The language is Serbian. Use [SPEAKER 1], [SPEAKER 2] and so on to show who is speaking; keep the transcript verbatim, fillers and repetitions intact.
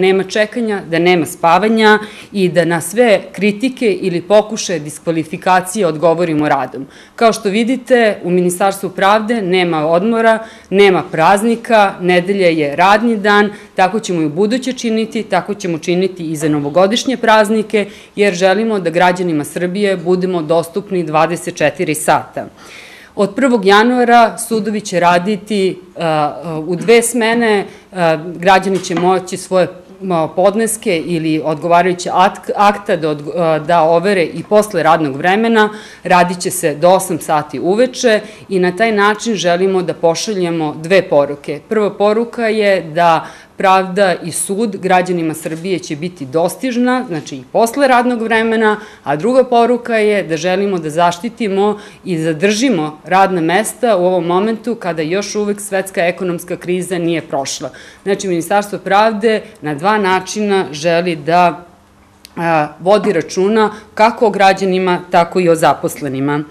[SPEAKER 1] nema čekanja, da nema spavanja i da na sve kritike ili pokušaje diskvalifikacije odgovorimo radom. Kao što vidite, u Ministarstvu pravde nema odmora, nema praznika, nedelja je radni dan, tako ćemo i u buduće činiti, tako ćemo činiti i za novogodišnje praznike, jer želimo da građanima Srbije budemo dostupni dvadeset četiri sata. Od prvog januara sudovi će raditi u dve smene, građani će moći svoje podneske ili odgovarajuće akta da overe i posle radnog vremena, radit će se do osam sati uveče i na taj način želimo da pošaljemo dve poruke. Prva poruka je da pravda i sud građanima Srbije će biti dostižna, znači i posle radnog vremena, a druga poruka je da želimo da zaštitimo i zadržimo radna mesta u ovom momentu kada još uvek svetska ekonomska kriza nije prošla. Znači, Ministarstvo pravde na dva načina želi da vodi računa kako o građanima, tako i o zaposlenima.